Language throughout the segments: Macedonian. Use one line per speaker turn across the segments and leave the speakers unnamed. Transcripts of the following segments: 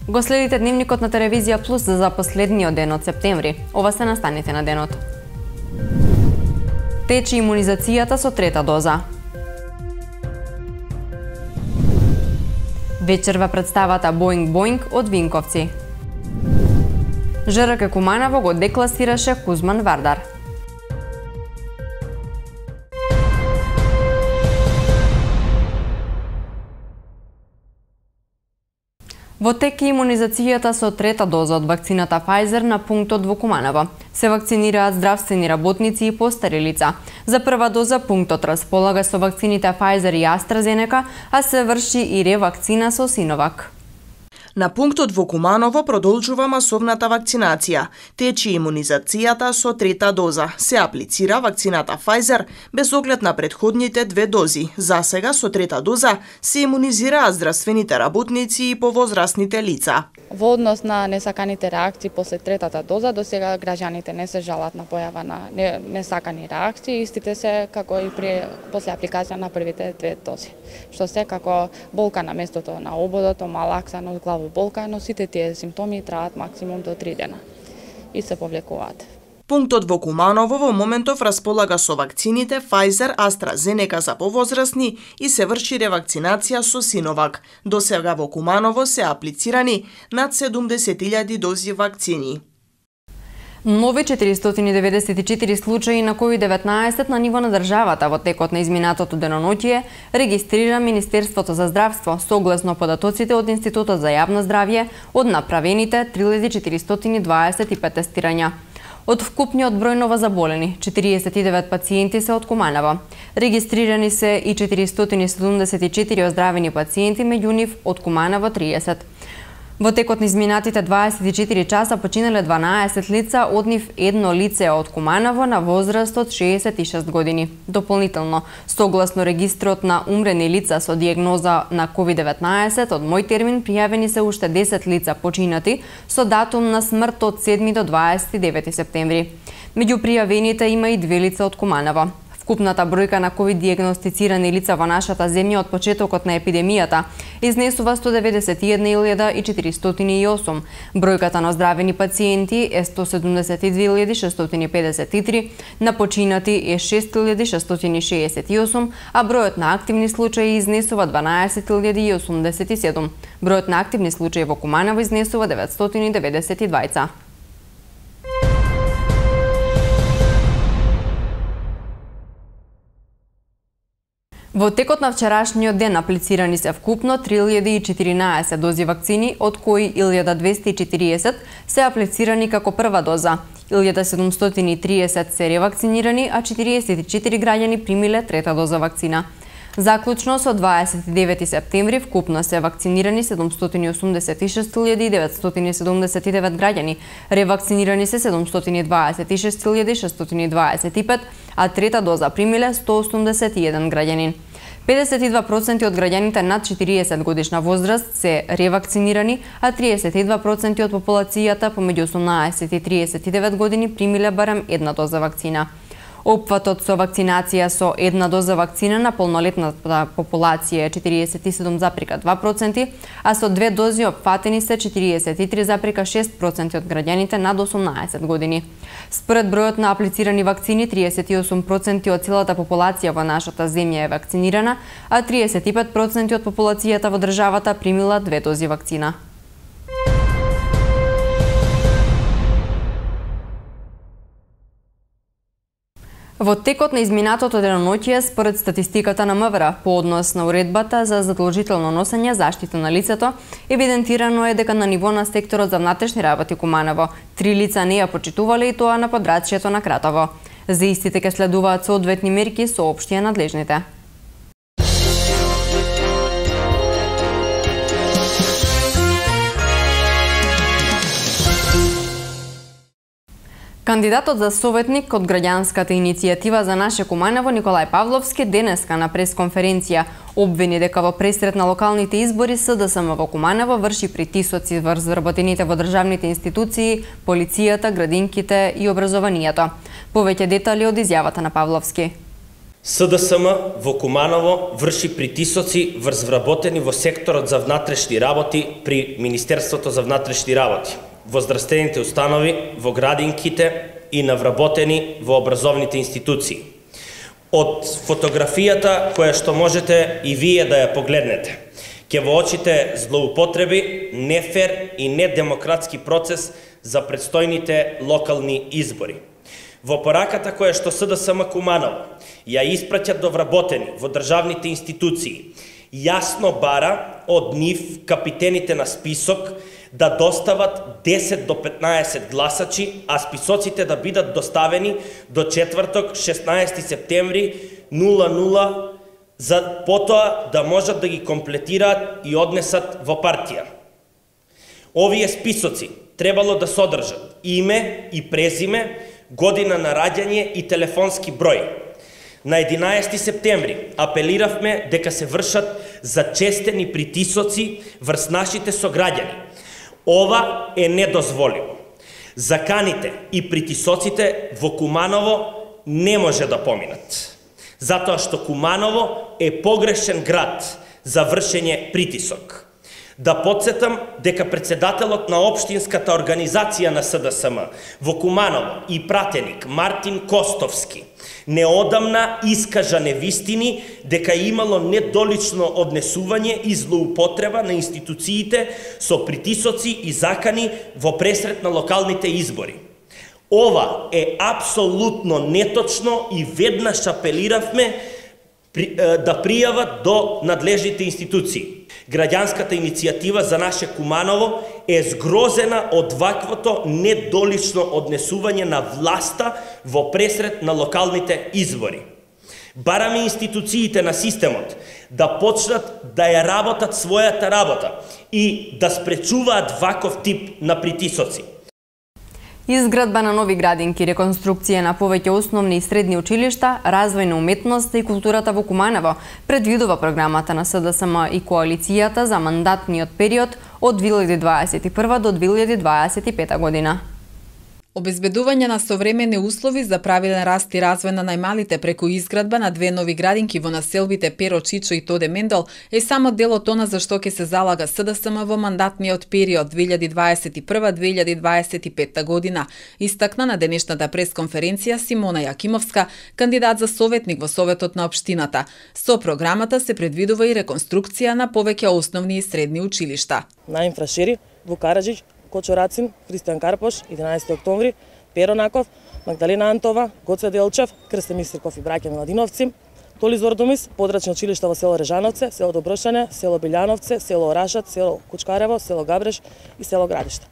Го следите дневникот на Телевизија Плюс за последниот ден од септември. Ова се настаните на денот. Тече имунизацијата со трета доза. Вечерва представата Боинг Боинг од Винковци. ЖРК Куманово го декласираше Кузман Вардар. Во тек е имунизацијата со трета доза од вакцината Pfizer на пунктот во Куманово. Се вакцинираат здравствени работници и постари лица. За прва доза пунктот располага со вакцините Pfizer и AstraZeneca, а се врши и ревакцина со Синовак.
На пунктот во Куманово продолжува масовната вакцинација. Тече имунизацијата со трета доза. Се аплицира вакцината Pfizer без оглед на претходните две дози. За сега со трета доза се имунизираат здравствените работници и повозрастните лица.
Во однос на несаканите реакции после третата доза, до сега граѓаните не се жалат на појава на несакани реакции, истите се како и после апликација на првите две дози. Што се како болка на местото на ободот, малакса, но главоболка, но сите тие симптоми траат максимум до 3 дена и се повлекуваат.
Пунктот во Куманово во моментов располага со вакцините Pfizer, AstraZeneca за повозрастни и се врши ревакцинација со Синовак. До сега во Куманово се аплицирани над 70.000 дози вакцини.
Нови 494 случаи на COVID-19 на ниво на државата во текот на изминатото деноноќие регистрира Министерството за здравство согласно податоците од Институтот за јавно здравје од направените 3425 тестирања. Од вкупниот број новозаболени, 49 пациенти се од Куманово. Регистрирани се и 474 оздравени пациенти, меѓу нив од Куманово 30. Во текот на изминатите 24 часа починале 12 лица, од нив едно лице од Куманово на возраст од 66 години. Дополнително, согласно регистрот на умрени лица со дијагноза на COVID-19, од мој термин пријавени се уште 10 лица починати со датум на смрт од 7 до 29 септември. Меѓу пријавените има и 2 лица од Куманово. Вкупната бројка на COVID дијагностицирани лица во нашата земја од почетокот на епидемијата изнесува 191.408. Бројката на оздравени пациенти е 172.653, на починати е 6.668, а бројот на активни случаи изнесува 12.087. Бројот на активни случаи во Куманово изнесува 992. Во текот на вчерашниот ден аплицирани се вкупно 3014 дози вакцини, од кои 1240 се аплицирани како прва доза, 1730 се ревакцинирани, а 44 граѓани примиле трета доза вакцина. Заклучно со 29 септември вкупно се вакцинирани 786.979 граѓани, ревакцинирани се 726.625, а трета доза примиле 181 граѓани. 52% од граѓаните над 40 годишна возраст се ревакцинирани, а 32% од популацијата помеѓу 18 и 39 години примиле барем една доза вакцина. Опфатот со вакцинација со една доза вакцина на полнолетната популација е 47,2%, а со две дози опфатени се 43,6% од граѓаните над 18 години. Според бројот на аплицирани вакцини, 38% од целата популација во нашата земја е вакцинирана, а 35% од популацијата во државата примила две дози вакцина. Во текот на изминатото деноноќие, според статистиката на МВР, по однос на уредбата за задолжително носење заштита на лицето, евидентирано е дека на ниво на секторот за внатрешни работи Куманово, 3 лица не ја почитувале и тоа на подрачјето на Кратово. За истите ке следуваат соодветни мерки, соопштија надлежните. Кандидатот за советник од граѓанската иницијатива за наше Куманово Николај Павловски денеска на пресконференција обвини дека во пресрет на локалните избори СДСМ во Куманово врши притисоци врз вработените во државните институции, полицијата, градинките и образованието. Повеќе детали од изјавата на Павловски.
СДСМ во Куманово врши притисоци врз вработени во секторот за внатрешни работи при Министерството за внатрешни работи, во здравствените установи, во градинките и на вработени во образовните институции. Од фотографијата која што можете и вие да ја погледнете, ќе во очите злоупотреби, нефер и недемократски процес за предстојните локални избори. Во пораката која што СДСМ Куманово ја испраќа до вработени во државните институции, јасно бара од нив капитените на список да достават 10 до 15 гласачи, а списоците да бидат доставени до четврток 16 септември 00 за потоа да можат да ги комплетираат и однесат во партија. Овие списоци требало да содржат име и презиме, година на раѓање и телефонски број. На 11 септември апелиравме дека се вршат зачестени притисоци врз нашите сограѓани. Ова е недозволиво. Заканите и притисоците во Куманово не може да поминат, затоа што Куманово е погрешен град за вршење притисок. Да подсетам дека председателот на општинската организација на СДСМ во Куманово и пратеник Мартин Костовски неодамна искажа невистини дека имало недолично однесување и злоупотреба на институциите со притисоци и закани во пресрет на локалните избори. Ова е апсолутно неточно и веднаш апелиравме да пријават до надлежните институции. Граѓанската иницијатива за наше Куманово е згрозена од ваквото недолично однесување на власта во пресрет на локалните избори. Бараме институциите на системот да почнат да ја работат својата работа и да спречуваат ваков тип на притисоци.
Изградба на нови градинки, реконструкција на повеќе основни и средни училишта, развој на уметноста и културата во Куманово предвидува програмата на СДСМ и коалицијата за мандатниот период од 2021 до 2025 година.
Обезбедување на современи услови за правилен раст и развој на најмалите преку изградба на две нови градинки во населбите Перо Чичо и Тоде Мендел е само дел од она за што ќе се залага СДСМ во мандатниот период 2021-2025 година, истакна на денешната пресконференција Симона Јакимовска, кандидат за советник во Советот на општината. Со програмата се предвидува и реконструкција на повеќе основни и средни училишта.
На Инфрашери, во Караџич, Кочо Рацин, Христијан Карпош, 11 октомври, Перо Наков, Магдалена Антова, Гоце Делчев, Крстен Мистрков и браќа Младиновци, Толи Зордумис, подрачни училишта во село Режановце, село Доброшане, село Билјановце, село Орашат, село Кучкарево, село Габреш и село Градиште.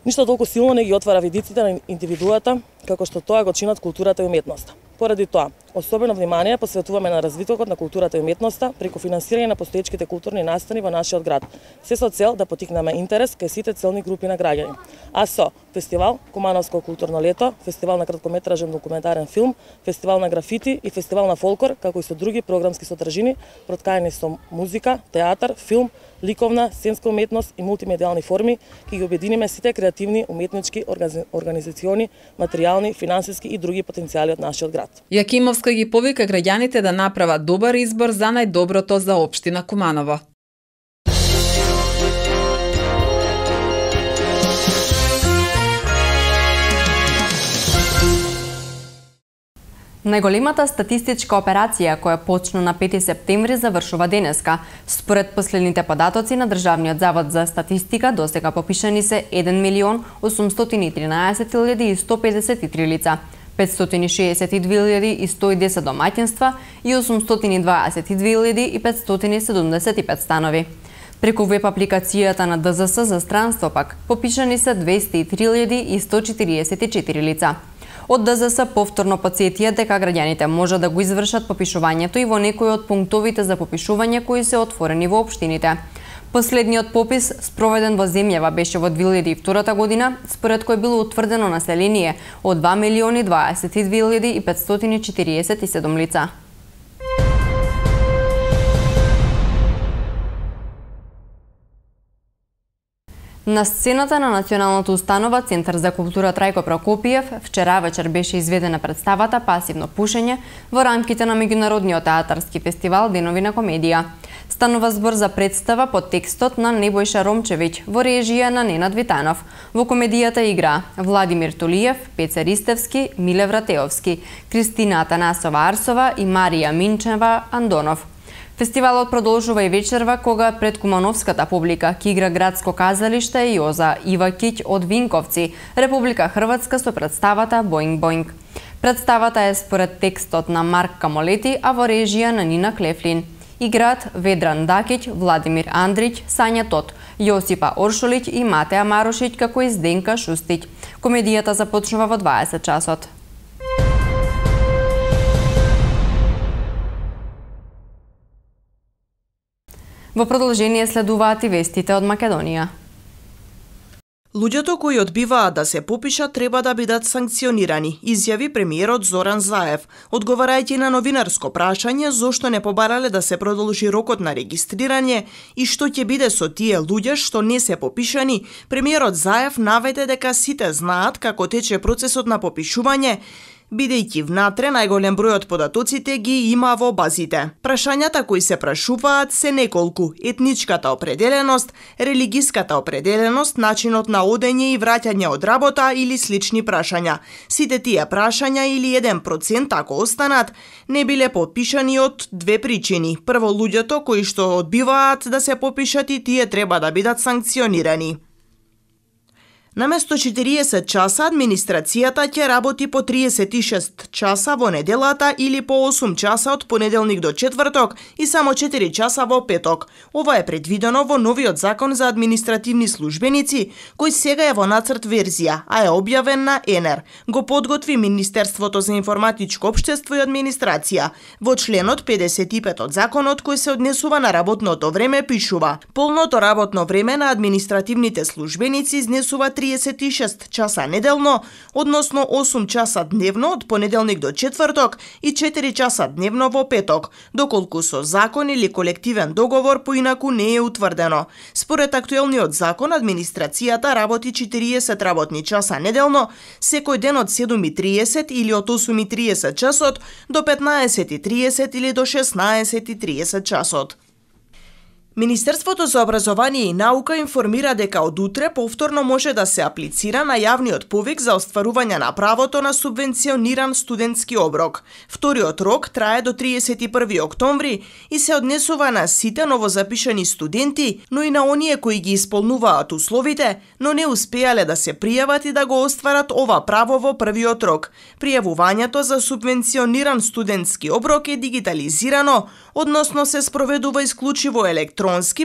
Ништо толку силно не ги отвара видиците на индивидуата, како што тоа го чинат културата и уметноста. Поради тоа, особено внимание посветуваме на развитокот на културата и уметноста преку финансирање на постоечките културни настани во нашиот град, се со цел да потикнеме интерес кај сите целни групи на граѓани. А со фестивал Кумановско културно лето, фестивал на краткометражен документарен филм, фестивал на графити и фестивал на фолклор, како и со други програмски содржини, проткаени со музика, театар, филм, ликовна, сценска уметност и мултимедијални форми, ќе ги обединиме сите креативни, уметнички, организациони, материјални, финансиски и други потенцијали од нашиот град.
Јакимовска ги повика граѓаните да направат добар избор за најдоброто за општина Куманово.
Најголемата статистичка операција која почна на 5 септември завршува денеска. Според последните податоци на Државниот завод за статистика, досега попишани се 1.813.153 лица, 562.110 домаќинства и 822.575 станови. Преку веб апликацијата на ДЗС за странство пак попишани се 203.144 лица. Од ДЗС повторно потсетија дека граѓаните може да го извршат попишувањето и во некои од пунктовите за попишување кои се отворени во општините. Последниот попис спроведен во земјава беше во 2002 година, според кој било утврдено население од 2.022.547 лица. На сцената на Националната установа Центар за култура Трајко Прокопиев вчера вечер беше изведена представата Пасивно пушење во рамките на меѓународниот театарски фестивал Денови на комедија. Станува збор за представа под текстот на Небојша Ромчевиќ во режија на Ненад Витанов. Во комедијата игра Владимир Толиев, Пеца Ристевски, Миле Вратеовски, Кристина Атанасова Арсова и Марија Минчева Андонов. Фестивалот продолжува и вечерва кога пред кумановската публика ќе игра градско казалиште Јоза Ивакиќ од Винковци, Република Хрватска со представата Боинг Боинг. Представата е според текстот на Марк Камолети, а во режија на Нина Клефлин. Играат Ведран Дакиќ, Владимир Андриќ, Сања Тот, Јосипа Оршолиќ и Матеа Марошиќ како и Зденка Шустиќ. Комедијата започнува во 20 часот. Во продолжение следуваат и вестите од Македонија.
Луѓето кои одбиваат да се попишат треба да бидат санкционирани, изјави премиерот Зоран Заев, одговарајќи на новинарско прашање зошто не побарале да се продолжи рокот на регистрирање и што ќе биде со тие луѓе што не се попишани. Премиерот Заев наведе дека сите знаат како тече процесот на попишување, бидејќи внатре најголем број од податоците ги има во базите. Прашањата кои се прашуваат се неколку: етничката определеност, религиската определеност, начинот на одење и враќање од работа или слични прашања. Сите тие прашања или 1% ако останат, не биле попишани од две причини. Прво, луѓето кои што одбиваат да се попишат и тие треба да бидат санкционирани. Наместо 40 часа, администрацијата ќе работи по 36 часа во неделата или по 8 часа од понеделник до четврток и само 4 часа во петок. Ова е предвидено во новиот закон за административни службеници, кој сега е во нацрт верзија, а е објавен на ЕНЕР. Го подготви Министерството за информатичко општество и администрација. Во членот 55 од законот кој се однесува на работното време пишува: полното работно време на административните службеници изнесува 36 часа неделно, односно 8 часа дневно од понеделник до четврток и 4 часа дневно во петок, доколку со закон или колективен договор поинаку не е утврдено. Според актуелниот закон, администрацијата работи 40 работни часа неделно, секој ден од 7:30 или од 8:30 часот до 15:30 или до 16:30 часот. Министерството за образование и наука информира дека од утре повторно може да се аплицира на јавниот повик за остварување на правото на субвенциониран студентски оброк. Вториот рок трае до 31 октомври и се однесува на сите новозапишани студенти, но и на оние кои ги исполнуваат условите, но не успеале да се пријават и да го остварат ова право во првиот рок. Пријавувањето за субвенциониран студентски оброк е дигитализирано, односно се спроведува исклучиво електронски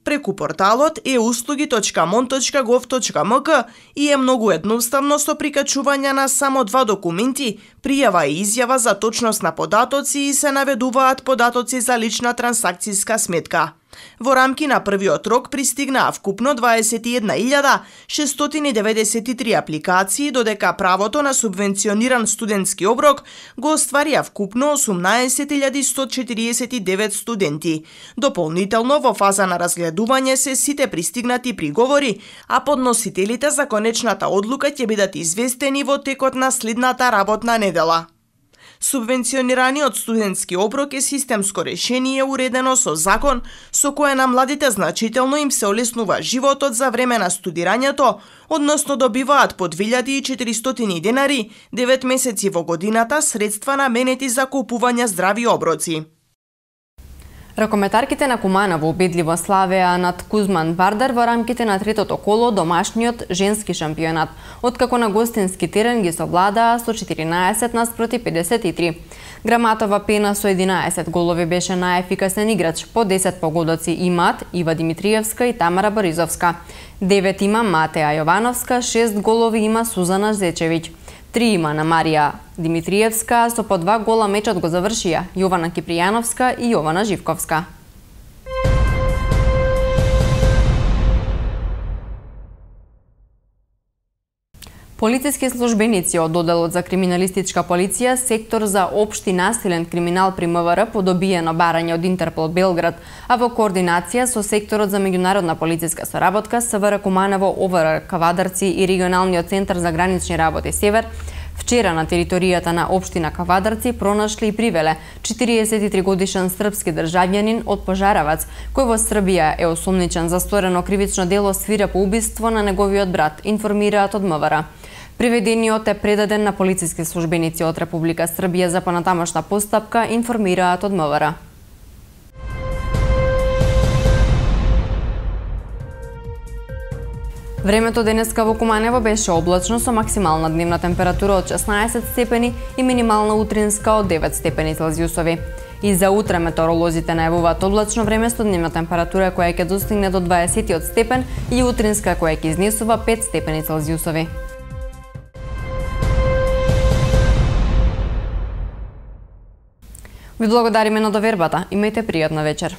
преку порталот euslugi.mon.gov.mk и е многу едноставно со прикачување на само 2 документи, пријава и изјава за точност на податоци и се наведуваат податоци за лична трансакцијска сметка. Во рамки на првиот рок пристигнаа вкупно 21.693 апликации, додека правото на субвенциониран студентски оброк го остварија вкупно 18.149 студенти. Дополнително во фаза на разгледување се сите пристигнати приговори, а подносителите за конечната одлука ќе бидат известени во текот на следната работна недела. Субвенционираниот студентски оброк е системско решение уредено со закон со кое на младите значително им се олеснува животот за време на студирањето, односно добиваат по 2400 денари 9 месеци во годината средства наменети за купување здрави оброци.
Ракометарките на Куманово убедливо славеа над Кузман Вардар во рамките на третото коло домашниот женски шампионат, откако на гостински терен ги совладаа со 14 наспроти 53. Граматова Пена со 11 голови беше најефикасен играч, по 10 погодоци имаат Ива Димитриевска и Тамара Боризовска. 9 има Матеа Јовановска, 6 голови има Сузана Зечевиќ. 3 има на Марија Димитриевска, со по 2 гола мечот го завршија Јована Кипријановска и Јована Живковска. Полициски службеници од Одделот за криминалистичка полиција, сектор за општи насилен криминал при МВР по добиено барање од Интерпол Белград, а во координација со секторот за меѓународна полициска соработка, СВР Куманово, ОВР Кавадарци и регионалниот центар за гранични работи Север, вчера на територијата на општина Кавадарци пронашли и привеле 43 годишен српски државјанин од Пожаравац, кој во Србија е осомничен за сторено кривично дело свирепо убиство на неговиот брат, информираат од МВР. Приведениот е предаден на полициски службеници од Република Србија за понатамошна постапка, информираат од МВР. Времето денеска во Куманово беше облачно со максимална дневна температура од 16 степени и минимална утринска од 9 степени Целзиусови. И за утре метеоролозите најавуваат облачно време со дневна температура која ќе достигне до 20 степен и утринска која ќе изнесува 5 степени Целзиусови. Ви благодариме на довербата. Имајте пријатна вечер.